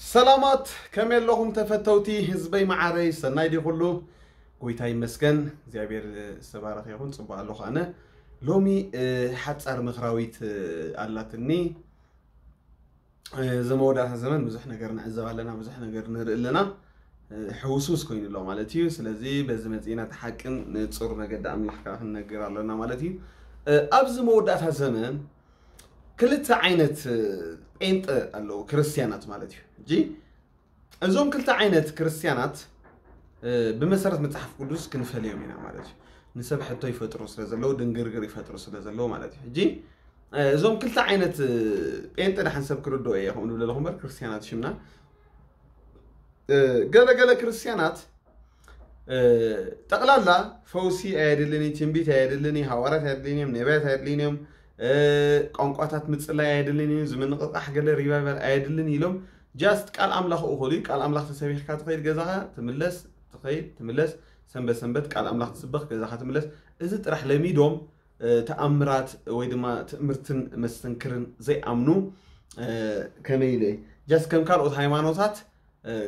ሰላማት፣ ከመይ ኣለኹም ተፈተውቲ ህዝበይ መዓረይ? ሰናይ ድዩ ኩሉ? ጎይታ ይመስገን፣ እግዚኣብሔር ዝተባረኸ ይኹን። ጽቡቕ ኣለኹ ኣነ። ሎሚ ሓጻር ምኽራዊት ኣላትኒ። እዚ መወዳእታ ዘመን ብዙሕ ነገር ንዕዘብ ኣለና፣ ብዙሕ ነገር ንርኢ ኣለና። ሕውስውስ ኮይኑ ኣሎ ማለት እዩ። ስለዚ በዚ መጺእና እቲ ሓቅን ንጹር መገዲ ኣምላኽ ከዓ ክንነግር ኣለና ማለት እዩ። ኣብዚ መወዳእታ ዘመን ክልተ ዓይነት ጴንጠ ኣለዉ፣ ክርስትያናት ማለት እዩ። ሕጂ እዞም ክልተ ዓይነት ክርስትያናት ብመሰረት መጽሓፍ ቅዱስ ክንፈልዮም ኢና ማለት እዩ። ንሰብ ሕቶ ይፈጥሩ ስለ ዘለዉ፣ ድንግርግር ይፈጥሩ ስለ ዘለዉ ማለት እዩ። ሕጂ እዞም ክልተ ዓይነት ጴንጠ ደሓን ሰብ ክርድኦ እየ ከምኡ ንብለለኹ እምበር ክርስትያናት ሽምና ገለገለ ክርስትያናት ጠቕላላ ፈውሲ ኣየድልን እዩ፣ ትንቢት ኣየድልን እዩ፣ ሃዋርያት ኣየድልን እዮም፣ ነቢያት ኣየድልን እዮም፣ ቋንቋታት ምጽላይ ኣየድልን እዩ፣ ዝምንቕቓሕ ገለ ሪቫይቫል ኣየድልን ኢሎም ጃስት ቃል ኣምላኽ እኹል እዩ። ቃል ኣምላኽ ተሰቢኽካ ትኸይድ ገዛኻ ትምለስ፣ ትኸይድ ትምለስ፣ ሰንበት ሰንበት ቃል ኣምላኽ ትስበኽ ገዛኻ ትምለስ። እዚ ጥራሕ ለሚዶም ተኣምራት ወይ ድማ ትእምርትን መስተንክርን ዘይኣምኑ ከመይ ኢለ ጃስት ከም ካልኦት ሃይማኖታት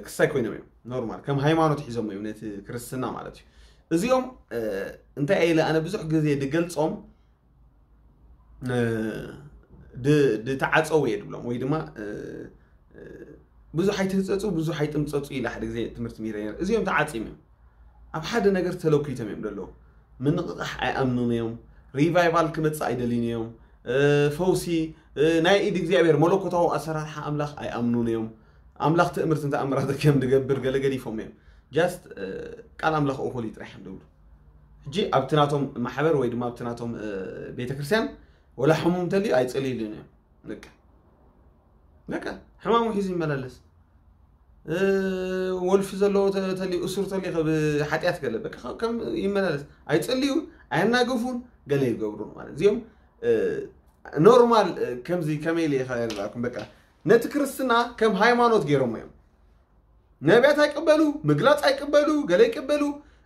ክሳይ ኮይኖም እዮም። ኖርማል ከም ሃይማኖት ሒዞም እዮም ነቲ ክርስትና ማለት እዩ። እዚኦም እንታይ ኢለ ኣነ ብዙሕ ግዜ ድገልጾም ድተዓፀው እየ ድብሎም ወይ ድማ ብዙሕ ኣይትህፀፁ ብዙሕ ኣይጥምፀፁ ኢለ ሓደ ግዜ ትምህርቲ ሚረ ነር። እዚኦም ተዓፂም እዮም። ኣብ ሓደ ነገር ተለኩይቶም እዮም ደለዉ። ምንቕቓሕ ኣይኣምኑን እዮም። ሪቫይቫል ክመፅእ ኣይደልዩን እዮም። ፈውሲ ናይ ኢድ እግዚኣብሔር መለኮታዊ ኣሰራርሓ ኣምላኽ ኣይኣምኑን እዮም። ኣምላኽ ትእምርትን ተኣምራትን ከም ድገብር ገለ ገዲፎም እዮም። ጃስት ቃል ኣምላኽ እኹል እዩ ጥራሕ እዮም ድብሉ። ሕጂ ኣብቲ ናቶም ማሕበር ወይ ድማ ኣብቲ ናቶም ቤተክርስትያን ወላ ሕሙም እንተልዩ ኣይፅልይሉን እዮም። በቃ በቃ ሕማሙ ሒዙ ይመላለስ። ወልፊ ዘለዎ ተልዩ እሱር ተልዩ ካብ ሓጢኣት ገለ በቃ ከም ይመላለስ። ኣይፅልዩ፣ ኣየናግፉን፣ ገለ ይገብሩ ማለት እዚኦም ኖርማል። ከምዚ ከመይ ኢለ ይኸላልኩም በቃ ነቲ ክርስትና ከም ሃይማኖት ገይሮሞ እዮም። ነቢያት ኣይቅበሉ፣ ምግላፅ ኣይቅበሉ፣ ገለ ይቅበሉ።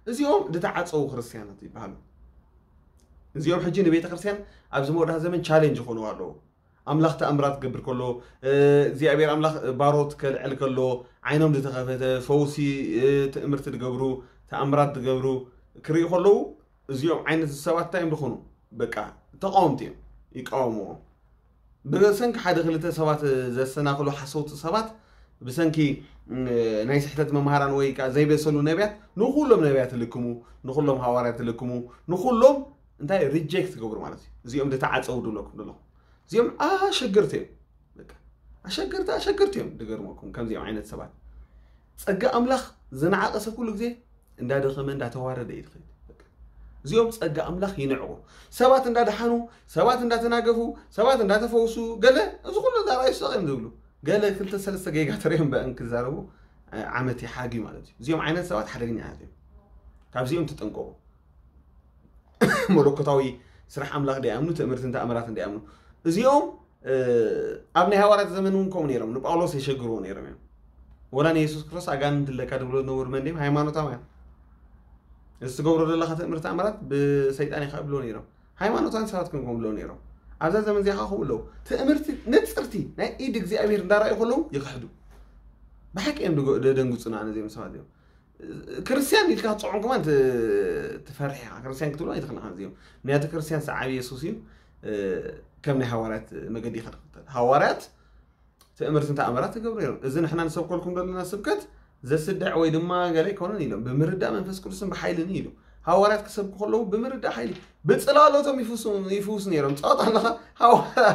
እዚኦም ዝተዓፀዉ ክርስትያናት ይበሃሉ። እዚኦም ሕጂ ንቤተ ክርስትያን ኣብዚ መወዳእታ ዘመን ቻሌንጅ ይኾኑ ኣለዉ። ኣምላኽ ተኣምራት ክገብር ከሎ እግዚኣብሔር ኣምላኽ ባሮት ከልዕል ከሎ ዓይኖም ዝተኸፈተ ፈውሲ ትእምርቲ ዝገብሩ ተኣምራት ዝገብሩ ክርእዩ ከለዉ እዚኦም ዓይነት ሰባት እንታይ እዮም ዝኾኑ? በቃ ተቃወምቲ እዮም፣ ይቃወምዎም። ብሰንኪ ሓደ ክልተ ሰባት ዘሰናኽሉ ሓሰውቲ ሰባት ብሰንኪ ናይ ስሕተት መምሃራን ወይ ከዓ ዘይበሰሉ ነቢያት ንኩሎም ነቢያት ልክሙ፣ ንኩሎም ሃዋርያት ልክሙ፣ ንኩሎም እንታይ ሪጀክት ትገብሩ ማለት እዩ። እዚኦም ዝተዓፀው ድብለኩም ዘለኹ እዚኦም ኣሸገርቲ እዮም። ኣሸገርቲ ኣሸገርቲ እዮም። ድገርመኩም ከምዚኦም ዓይነት ሰባት ጸጋ ኣምላኽ ዝነዓቐ ሰብ ኩሉ ግዜ እንዳደኸመ እንዳተዋረደ እዩ ዝኸይድ። እዚኦም ጸጋ ኣምላኽ ይንዕቑ። ሰባት እንዳደሓኑ፣ ሰባት እንዳተናገፉ፣ ሰባት እንዳተፈውሱ ገለ እዚ ኩሉ እንዳረኣዩ ሰቕ እዮም ዝብሉ። ገለ ክልተ ሰለስተ ጌጋ ተሪኦም በእን ክዛረቡ ዓመት ይሓግዩ ማለት እዩ። እዚኦም ዓይነት ሰባት ሓደገኛታት እዮም። ካብዚኦም ትጠንቀቑ። መለኮታዊ ስራሕ ኣምላኽ እንዳይኣምኑ ትእምርትን ተኣምራትን እንዳይኣምኑ እዚኦም ኣብ ናይ ሃዋርያት ዘመን እውን ከምኡ ነይሮም። ንጳውሎስ የሸግርዎ ነይሮም እዮም። ወላ ንየሱስ ክርስቶስ ኣጋንንት ኣለካ ድብሎ ዝነበሩ መን ድም ሃይማኖታውያን እዚ ትገብሮ ዘለካ ትእምርቲ ተኣምራት ብሰይጣን ኢካ ብሎ ነይሮም። ሃይማኖታውያን ሰባት ከም ከምብሎ ነይሮም። ኣብዛ ዘመን እዚኣ ከዓ ከምኡ ኣለዉ። ትእምርቲ ንፅርቲ ናይ ኢድ እግዚኣብሔር እንዳረኣዩ ከለዉ ይክሕዱ። ብሓቂ እዮም ደደንግፁና ነዚኦም ሰባት እዮም። ክርስትያን ኢልካ ክትፅዖም ከማን ትፈርሕ ኢኻ። ክርስትያን ክትብሎ ኣይትኽእልኻ እዚኦም። ምክንያቱ ክርስትያን ሰዓቢ የሱስ እዩ። ከም ናይ ሃዋርያት መገዲ ኢኻ ትኽተል። ሃዋርያት ትእምርትን ተኣምራት ትገብሩ ነይሮም። እዚ ንሕና ንሰብከልኩም ዘለና ስብከት ዘስድዕ ወይ ድማ ገለ ኣይኮነን ኢሎም ብምርዳእ መንፈስ ቅዱስን ብሓይልን ኢሉ። ሃዋርያት ክሰብኩ ከለዉ ብምርዳእ ሓይሊ ብፅላሎቶም ይፍውሱ ነይሮም። ፀወት ኣለኻ።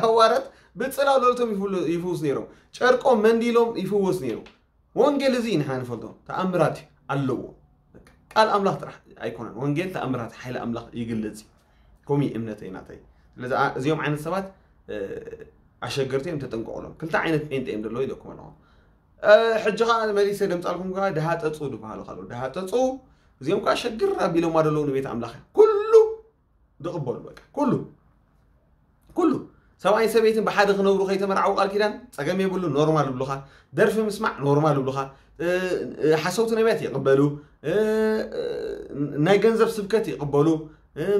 ሃዋርያት ብፅላሎቶም ይፍውሱ ነይሮም። ጨርቆም መንዲሎም ይፍወስ ነይሩ። ወንጌል እዚ ንሕና ንፈልጦ ተኣምራት ኣለዎ። ቃል ኣምላኽ ጥራሕ ኣይኮነን። ወንጌል ተኣምራት ሓይሊ ኣምላኽ ይግልጽ እዩ። ከምኡ እዩ እምነተይ ናተይ። ስለዚ እዚኦም ዓይነት ሰባት ኣሸገርቲ እዮም፣ ተጠንቀቑሎም። ክልተ ዓይነት ጴንጤ እዮም ዘለዉ ኢለኩም ኣለኹ። ሕጂ ከዓ መሊሰ ደምፃልኩም ከዓ ድሃጠፁ ዝበሃሉ ካሉ ድሃጠፁ እዚኦም ከዓ ሸግር ኣቢሎማ ዘለዉ ንቤት ኣምላኽ ኩሉ ዝቕበሉ በቃ ኩሉ ኩሉ ሰብኣይን ሰበይትን ብሓደ ክነብሩ ከይተመርዓዉ ቃል ኪዳን ፀገም የብሉ። ኖርማል ይብሉኻ። ደርፊ ምስማዕ ኖርማል ይብሉኻ። ሓሰውቲ ነቢያት ይቕበሉ። ናይ ገንዘብ ስብከት ይቕበሉ።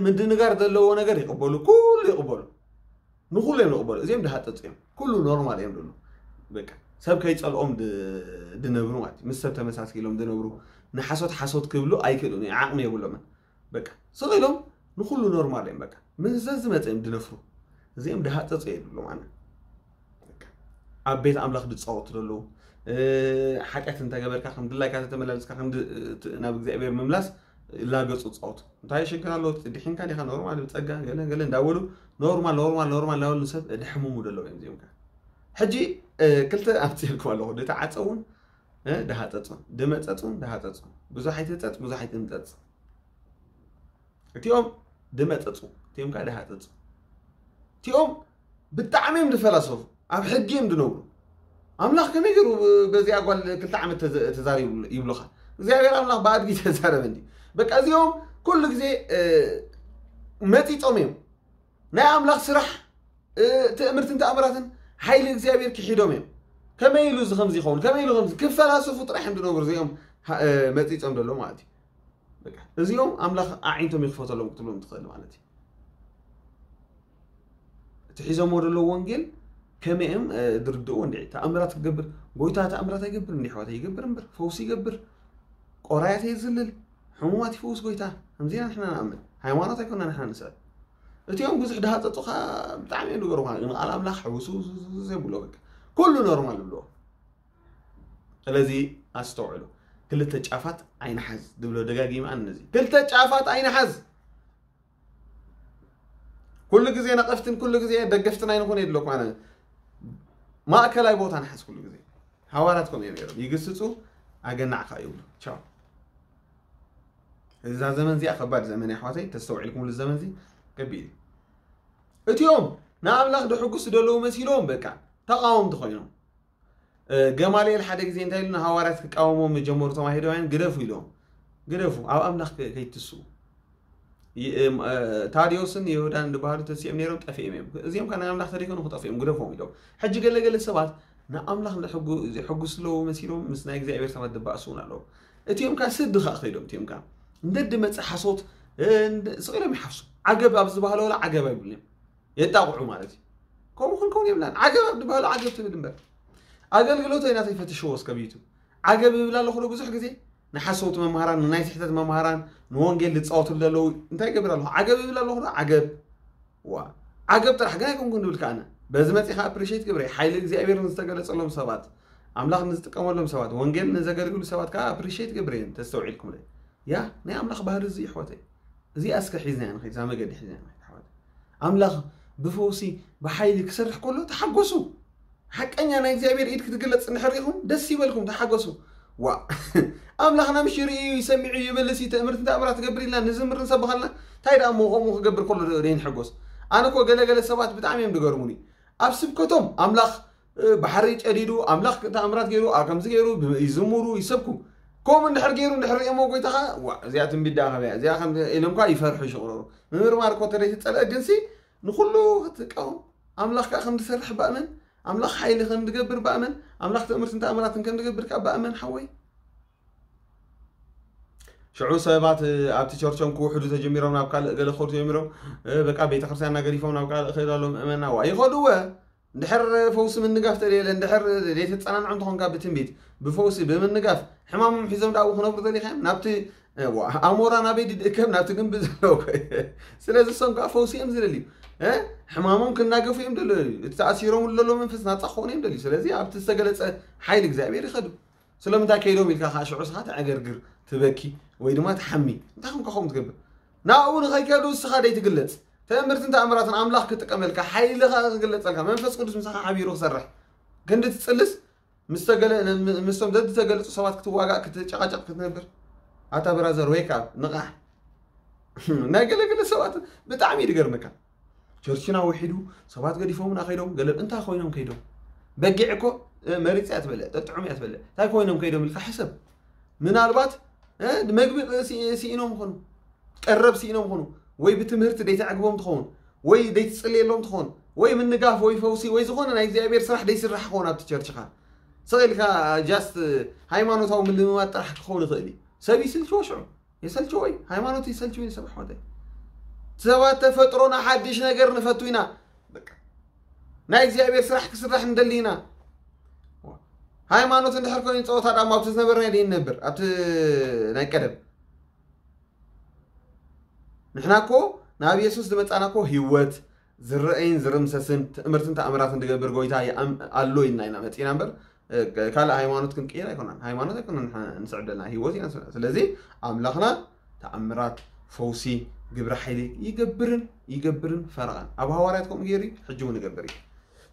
ምድንጋር ዘለዎ ነገር ይቕበሉ። ኩሉ ይቕበሉ። ንኩሉ እዮም ዝቕበሉ። እዚኦም ድሃጠፅ እዮም። ኩሉ ኖርማል እዮም ዝብሉ። በቃ ሰብ ከይጸልኦም ድ- ድነብሩ ማለት እዩ። ምስ ሰብ ተመሳሲሎም ድነብሩ፣ ንሓሶት ሓሶት ክብሉ ኣይክእሉን እዮም፣ ዓቕሚ የብሎምን። በቃ ስቕ ኢሎም ንኹሉ ኖርማል እዮም። በቃ ምስ ዘዝመፀ እዮም ድነፍሩ። እዚኦም ድሃፀፁ የድሉ ማለት በቃ ኣብ ቤት ኣምላኽ ድፃወቱ ዘለዉ። እ፣ ሓጢኣት እንተገበርካ ከም ድላይካ ተተመላለስካ ከም ድ- ት- ናብ እግዚኣብሔር ምምላስ ላገፁ ዝፃወቱ። እንታይ ሽግር ኣለዎ? ድሒንካ ዲኻ? ኖርማል፣ ብፀጋ ገለ ገለ እንዳበሉ ኖርማል ኖርማል ኖርማል እንዳበሉ ንሰብ ድሕምሙ ዘለዉ እዮም እዚኦም ከ። ሕጂ እ፣ ክልተ ኣምፅልኩም ኣለኹ። ድተዓፀውን እ፣ ድሃፀፁን፣ ድመፀፁን ድሃፀፁን። ብዙሕ ኣይትፀፅ፣ ብዙሕ ኣይትምፀፅ። እቲኦም ድመፀፁ፣ እቲኦም ከዓ ድሃፀፁ። እቲኦም ብጣዕሚ እዮም ድፈላሰፉ፣ ኣብ ሕጊ እዮም ድነብሩ። ኣምላኽ ከመይ ገይሩ በዚኣ ጓል ክልተ ዓመት ተዘ- ተዛሪቡ ይብሉኻ? እግዚኣብሔር ኣምላኽ ብኣድጊ ተዛረበ እንዲ። በቃ እዚኦም ኩሉ ግዜ እ፣ መፂፆም እዮም። ናይ ኣምላኽ ስራሕ እ፣ ትእምርትን ተኣምራትን ሓይሊ እግዚኣብሔር ክሒዶም እዮም። ከመይ ኢሉ እዚ ከምዚ ይኸውን? ከመይ ኢሉ ከምዚ? ክፈላሰፉ ጥራሕ እዮም ድነብሩ እዚኦም ሃ- እ፣ መፂፆም ዘሎ ማለት እዩ። በቃ እዚኦም ኣምላኽ ኣዒንቶም ይኽፈተሎም ክትብሎም ትኽእል ማለት እዩ። እቲ ሒዞሞ ዘለዉ ወንጌል ከመይ እዮም እ፣ ድርድእዎ እንዲ? ተኣምራት ክገብር፣ ጎይታ ተኣምራት ኣይገብር እንዲ? ኣሕዋት ይገብር እምበር፣ ፈውሲ ይገብር፣ ቆራያት የዝልል፣ ሕሙማት ይፈውስ ጎይታ። ከምዚና ንሕና ንኣምን። ሃይማኖት ኣይኮና ንሕና ንስዕብ። እቲኦም ብዙሕ ድሃፀፁኻ ብጣዕሚ እዮም ድገርሙኻ። ንቃል ኣምላኽ ሕውስውስውስ የብሎ በቃ። ኩሉ ኖርማል ይብልዎ። ስለዚ ኣስተውዕሉ። ክልተ ጫፋት ኣይንሓዝ ድብሎ ደጋጊመ ኣነ ነዚ። ክልተ ጫፋት ኣይንሓዝ። ኩሉ ግዜ ነቐፍትን ኩሉ ግዜ ደገፍትን ኣይንኹን የድለኩም ኣነ። ማእከላይ ቦታ ንሓዝ ኩሉ ግዜ። ሃዋርያት ከምኡ እዮም ነይሮም። ይግስጹ፣ ኣገናዕካ ይብሉ። ቻው። እዛ ዘመን እዚኣ ከባድ ዘመን እያ ኣሕዋተይ፣ ተስተውዒልኩምሉ ዘመን እዚ ከቢድ እዩ። እቲኦም ንኣምላኽ ድሕጉስ ደለዉ መሲሎም በቃ ተቃወምቲ ኮይኖም። እ፣ ገማልኤል ሓደ ግዜ እንታይ ኢሉ ንሃዋርያት ክቃወሞም ጀመሩ፣ እቶም ኣይሁዳውያን ግደፉ ኢሎም። ግደፉ፣ ኣብ ኣምላኽ ከ- ከይትስኡ። ይ- እም፣ እ፣ ታዲዮስን ይሁዳን ዝበሃሉ ተሲኦም ነይሮም፣ ጠፊኦም እዮም። እዚኦም ከ ናይ ኣምላኽ ተደይኮኑ ክጠፍኡ እዮም፣ ግደፎም ኢሎም። ሕጂ ገለ ገለ ሰባት ንኣምላኽ ንሕጉ- ዝሕጉስ ኣለዉ መሲሎም ምስ ናይ እግዚኣብሔር ሰባት ድባእሱ እውን ኣለዉ። እቲኦም ከ ስዲ ከኣ ከይዶም፣ እቲኦም ከ እንደ ድመጽእ ሓሶት እ፣ እንደ- ስቕ ኢሎም ይሓፍሱ። ዓገብ ኣብ ዝበሃለወላ ዓገብ ኣይብሉን እዮም። የጣቕዑ ማለት እዩ። ከምኡ ክንከውን የብላን። ዓገብ ኣብ ዝበሃሉ ዓገብ ትብል እምበር። ኣገልግሎተይ ናተይ ፈትሽዎ እስከ ብዩቱብ። ዓገብ ይብል ኣለኹ ዶ ብዙሕ ግዜ? ንሓሰውቲ መምሃራን፣ ንናይ ስሕተት መምሃራን፣ ንወንጌል ዝፃወትሉ ዘለዉ እንታይ ይገብር ኣለኹ? ዓገብ ይብል ኣለኹ ዶ? ዓገብ። ዋ። ዓገብ ጥራሕ ግን ኣይኮንኩን ዝብል ከኣነ። በዚ መፂኻ ኣፕሪሼት ግብረ። ሓይሊ እግዚኣብሔር ንዝተገለጸሎም ሰባት፣ ኣምላኽ ንዝጥቀመሎም ሰባት፣ ወንጌል ንዘገልግሉ ሰባት ከዓ ኣፕሪሼት ግብረ። ተስተውዒልኩም ዶ? ያ፣ ናይ ኣምላኽ ባህሪ እዚ ይሕወተይ። እዚኣ እስከ ሒዝናያ ንኸይድ፣ እዛ መገዲ ሒዝናያ ንኸይድ ኣሕዋት። ኣምላኽ ብፈውሲ ብሓይሊ ክሰርሕ ከሎ ተሓጎሱ። ሓቀኛ ናይ እግዚኣብሔር ኢድ ክትግለጽ እንድሕር ርኢኹም ደስ ይበልኩም፣ ተሓጎሱ። ዋ ኣምላኽና ምሽ ርእዩ ይሰሚዑ ይበልስ እዩ፣ ትእምርትን ተኣምራት ትገብር ኢልና ንዝምር ንሰብኻልና። እንታይ ደኣ እሞ ከምኡ ክገብር ከሎ ደይንሕጎስ? ኣነ እኮ ገለ ገለ ሰባት ብጣዕሚ እዮም ዝገርሙኒ። ኣብ ስብከቶም ኣምላኽ እ፣ ባሕሪ ጨዲዱ ኣምላኽ ተኣምራት ገይሩ፣ ኣብ ከምዚ ገይሩ ብ- ይዝምሩ ይሰብኩ። ከምኡ እንድሕር ገይሩ እንድሕር ርእዮሞ ጎይታኻ፣ ዋ እዚኣ ትንቢት ደኣ ከመያ እዚኣ ከም ኢሎም እኳ ይፈርሑ ይሽቕረሩ። ምምርማር እኮ ተደይ ትጸልአ ግንሲ ንኹሉ ክትቃወም ኣምላኽ ከኣ ከም ዝሰርሕ ባእመን፣ ኣምላኽ ሓይሊ ከም ዝገብር ባእመን፣ ኣምላኽ ትእምርትን ተኣምራትን ከም ዝገብር ከኣ ባእመን ሓወይ። ሽዑ ሰባት እ፣ ኣብቲ ቸርቾም ክውሕዱ ተጀሚሮም ናብ ካልእ ገለ ክኸዱ ተጀሚሮም እ፣ በቃ ቤተክርስትያንና ገዲፎም ናብ ካልእ ክኸዱ ኣለዉ ምእመና ዋ ይኸዱ እወ። እንድሕር ፈውሲ ምንጋፍ ተደየለ እንድሕር ዘይተጸናንዖ እንተኾንካ ብትንቢት ብፈውሲ ብምንጋፍ ሕማሞም ሒዞም ዳኣ ክነብሩ ደሊኻዮም ናብቲ ዋ፣ ኣሞራ ናበይ ድድእከብ ናብቲ ግንቢ ዘለዎ ኮ- ስለዚ እሶም ከዓ ፈውሲ እዮም ዝደልዩ እ? ሕማሞም ክናገፉ እዮም ደልዩ እቲ ተኣሲሮም ዘሎ መንፈስ ናፃ ክኾኑ እዮም ደልዩ ስለዚ ኣብቲ ዝተገለፀ ሓይሊ እግዚኣብሔር ይኸዱ ስለምንታይ ከይዶም ኢልካ ከዓ ሽዑ ስኻ ተዕገርግር ትበኪ ወይ ድማ ትሓሚ እንታይ ከም ከኸውን ትገብር ናብኡ ንኸይከዱ እስኻ ደይትግለፅ ተእምርትን ተኣምራትን ኣምላኽ ክጥቀመልካ ሓይልኻ ክግለፀልካ መንፈስ ቅዱስ ምሳኻ ሓቢሩ ክሰርሕ ክንዲ ትፅልስ ምስቶም ዘዝተገለፁ ሰባት ክትዋጋእ ክትጨቃጨቅ ክትነብር ኣታ ብራዘር ወይ ካብ ንቃሕ ናይ ገለገለ ሰባት ብጣዕሚ ይድገርመካ ቸርችና ውሒዱ ሰባት ገዲፎምና ከይዶም ገለ እንታይ ኮይኖም ከይዶም በጊዕ እኮ መሪፅ እያ ትበልዕ ጠጥዑም እያ ትበልዕ እንታይ ኮይኖም ከይዶም ኢልካ ሕሰብ ምናልባት መግቢ ስኢኖም ኾኑ ቀረብ ስኢኖም ኾኑ ወይ ብትምህርቲ ደይተዕግቦም ትኸውን ወይ ደይትፅልየሎም ትኸውን ወይ ምንጋፍ ወይ ፈውሲ ወይ ዝኾነ ናይ እግዚኣብሔር ስራሕ ደይስራሕ ክኸውን ኣብቲ ቸርችኻ ስቕ ኢልካ ጃስት ሃይማኖታዊ ምልምማድ ጥራሕ ክኸውን ይኽእል እዩ ሰብ ይስልችዎ ሽዑ የሰልችዎ እዩ ሃይማኖት ይሰልችው እዩ ሰብ ኣሕዋተይ ሰባት ተፈጥሮና ሓድሽ ነገር ንፈቱ ኢና ናይ እግዚኣብሔር ስራሕ ክስራሕ ንደሊ ኢና ሃይማኖት እንድሕር ኮይኑ ጸወታ ዳማ ኣብቲ ዝነበርና ድዩ ንነብር ኣብቲ ናይ ቀደም? ንሕና እኮ ናብ የሱስ ዝመጻና እኮ ህይወት ዝረአይን ዝርምሰስን ትእምርትን ተኣምራትን ዝገብር ጎይታ ኣሎ ኢልና ኢና መጺና እምበር ካልእ ሃይማኖት ክንቅይር ኣይኮናን። ሃይማኖት ኣይኮናን ንስዕብ ዘለና ህይወት ኢና። ስለዚ ኣምላኽና ተኣምራት፣ ፈውሲ፣ ግብረ ሓይሊ ይገብርን ይገብርን ፈረቓን ኣብ ሃዋርያት ከምኡ ገይሩ ሕጂ እውን ይገብር እዩ።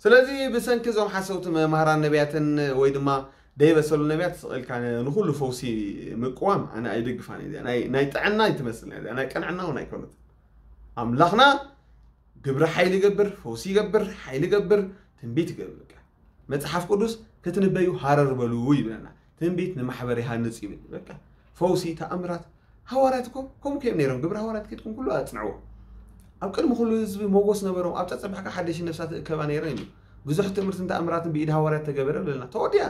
ስለዚ ብሰንኪ እዞም ሓሰውቲ መማህራን ነቢያትን ወይ ድማ ደይበሰሉ ነቢያት ስቕ ኢልካ ንኩሉ ፈውሲ ምቅዋም ኣነ ኣይድግፋን እየ። ናይ ጥዕና ይትመስል ናይ ቅንዕና እውን ኣይኮነት። ኣምላኽና ግብረ ሓይሊ ይገብር፣ ፈውሲ ይገብር፣ ሓይሊ ይገብር፣ ትንቢት ይገብር። መፅሓፍ ቅዱስ ክትንበዩ ሃረር በሉ ይብለና። ትንቢት ንማሕበር ይሃንፅ ይብል። በቃ ፈውሲ፣ ተኣምራት ሃዋርያት እኮ ከምኡ ከዮም ነይሮም። ግብረ ሃዋርያት ኬድኩም ኩሉ ኣፅንዕዎ። ኣብ ቅድሚ ኩሉ ህዝቢ ሞጎስ ነበሮም። ኣብ ፀፀባሕካ ሓደሽ ነፍሳት እከባ ነይረን እዩ። ብዙሕ ትምህርትን ተኣምራትን ብኢድ ሃዋርያት ተገበረ ብለና። ተወዲያ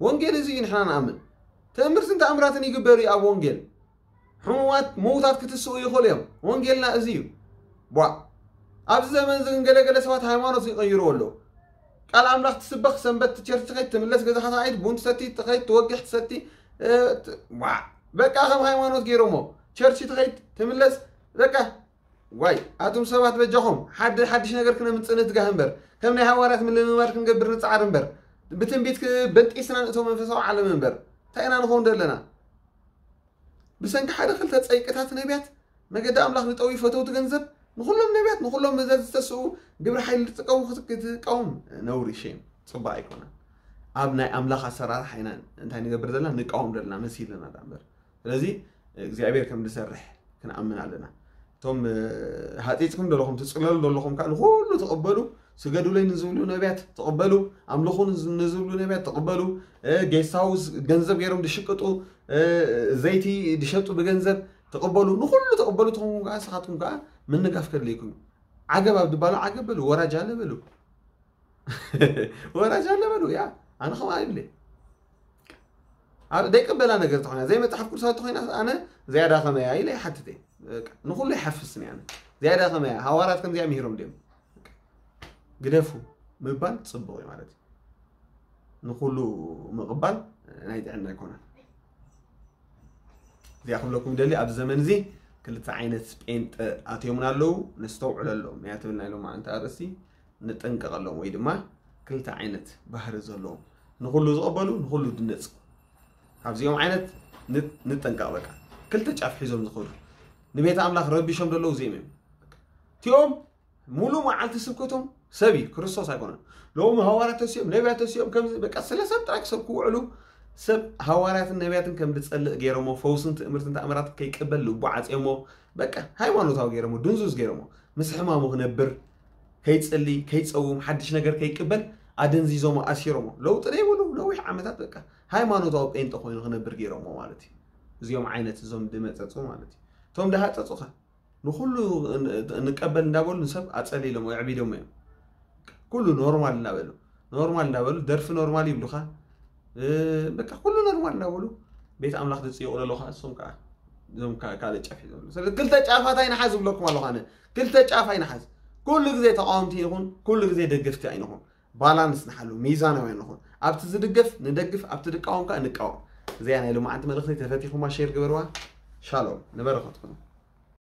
ወንጌል እዚ እዩ ንሕና ንኣምን። ትምህርትን ተኣምራትን ይግበር እዩ ኣብ ወንጌል። ሕሙማት ምውታት ክትስኡ ይኽእሉ እዮም። ወንጌልና እዚ እዩ። ቧ ኣብዚ ዘመን እዚ ግን ገለገለ ሰባት ሃይማኖት ይቐይሩ ኣለዉ። ቃል ኣምላኽ ትስበኽ፣ ሰንበት ቸርች ትኸይድ፣ ትምለስ፣ ገዛኻ ትኸይድ፣ ቡን ትሰቲ፣ ትኸይድ፣ ትወግሕ፣ ትሰቲ፣ እ፣ ት-፣ ዋ፣ በቃ ከም ሃይማኖት ገይሮሞ። ቸርች ትኸይድ፣ ትምለስ፣ በቃ። ዋይ ኣቱም ሰባት በጃኹም ሓደ ሓድሽ ነገር ክነምፅእ ንትጋህ እምበር ከም ናይ ሃዋርያት ምልምማድ ክንገብር ንፃዓር እምበር ብትንቢት በንጢስና ንእቶ መንፈሳዊ ዓለም እምበር እንታይ ኢና ንኸውን ዘለና? ብሰንኪ ሓደ ክልተ ጸይቅታት ነቢያት መገዲ ኣምላኽ ዝጠውዩ ፈተውቲ ገንዘብ ንኹሎም ነቢያት ንኹሎም መዘዝ ዝተስኡ ግብሪ ሓይሊ ዝጥቀሙ ክትቃወም ነውሪ ሸም ጽቡቅ ኣይኮነን። ኣብ ናይ ኣምላኽ ኣሰራርሓ ኢና እንታይ ንገብር ዘለና ንቃወም ዘለና መሲልና ዳ እምበር ስለዚ እግዚኣብሔር ከም ዝሰርሕ ክንኣምን ኣለና። እቶም ሃፂፅኩም ዘለኹም ትፅለሉ ዘለኹም ከዓ ንኩሉ ተቐበሉ። ስገዱለይ ንዝብሉ ነቢያት ተቐበሉ። ኣምልኹ ንዝብሉ ነቢያት ተቐበሉ። ጌስት ሃውስ ገንዘብ ገይሮም ዝሽቅጡ ዘይቲ ዝሸጡ ብገንዘብ ተቐበሉ። ንኩሉ ተቐበሉ። ትኹም ከዓ ንስኻትኩም ከዓ ምንጋፍ ከድልየኩም እዩ። ዓገብ ኣብ ድባሉ ዓገብ በሉ፣ ወራጅ ኣለ በሉ። ወራጅ ኣለ በሉ። ያ ኣነ ከምኣ ይብለ። ደይቅበላ ነገር ተኾይና ዘይ መፅሓፍ ቅዱሳዊ ተኾይና ኣነ ዝያዳ ከመያ ኢለ ይሓትት እየ። ንኩሉ ይሓፍስኒ ኣነ ዝያዳ ከመያ ሃዋርያት ከምዚኣ ምሂሮም ድዮም ግደፉ ምባል ፅቡቅ እዩ ማለት እዩ። ንኩሉ ምቕባል ናይ ጥዕና ኣይኮነን። እዚኣ ክብለኩም ደሊ ኣብዚ ዘመን እዚ ክልተ ዓይነት ጴንጠ ኣትዮምና ኣለዉ። ነስተውዕለሎም እያ ትብል ናይ ሎማዓንቲ ኣርእስቲ። ንጠንቀቐሎም ወይ ድማ ክልተ ዓይነት ባህሪ ዘለዎም ንኩሉ ዝቐበሉ ንኩሉ ድነፅ ካብዚኦም ዓይነት ንጠንቀቕ። በቃ ክልተ ጫፍ ሒዞም ዝኸዱ ንቤት ኣምላኽ ረቢሾም ዘለዉ እዚኦም እዮም። እቲኦም ሙሉእ መዓልቲ ስብከቶም ሰብ እዩ ክርስቶስ ኣይኮነን። ሎሚ ሃዋርያት ተሲኦም ነቢያት ተሲኦም ከምዚ በቃ ስለ ሰብ ጥራይ ክሰብኩ ውዕሉ። ሰብ ሃዋርያትን ነቢያትን ከም ዝፀልእ ገይሮሞ ፈውስን ትእምርትን ተኣምራትን ከይቅበል ልቡ ዓፅዮሞ በቃ ሃይማኖታዊ ገይሮሞ ድንዙዝ ገይሮሞ ምስ ሕማሙ ክነብር ከይፅሊ ከይፀውም ሓድሽ ነገር ከይቅበል ኣደንዚዞሞ ኣሲሮሞ ለውጢ ዘይብሉ ነዊሕ ዓመታት በቃ ሃይማኖታዊ ጴንጠ ኮይኑ ክነብር ገይሮሞ ማለት እዩ። እዚኦም ዓይነት እዞም ድመፀፁ ማለት እዩ። እቶም ድሃፀፁ ከ ንኩሉ ንቀበል እንዳበሉ ንሰብ ኣፀሊሎም ወይ ኣዕቢዶሞ እዮም። ኩሉ ኖርማል እንዳበሉ ኖርማል እንዳበሉ ደርፊ ኖርማል ይብሉካ። በቃ ኩሉ ኖርማል እንዳበሉ ቤት ኣምላኽ ዝፅይቑ ዘለዉ ከዓ እሶም ከዓ እዞም ካልእ ጫፍ እዩ ዘሎ። ስለዚ ክልተ ጫፋት ኣይንሓዝ ዝብለኩም ኣለኹ ኣነ። ክልተ ጫፍ ኣይንሓዝ። ኩሉ ግዜ ተቃወምቲ ይኹን ኩሉ ግዜ ደገፍቲ ኣይንኹን። ባላንስ ንሓሉ፣ ሚዛናውያን ንኹን። ኣብቲ ዝድገፍ ንደግፍ፣ ኣብቲ ዝቃወም ከዓ ንቃወም። እዚኣ ናይ ሎማዓንቲ መልእኽቲ ተፈቲኹማ ሼር ግበርዋ። ሻሎም ንበረኸትኩም።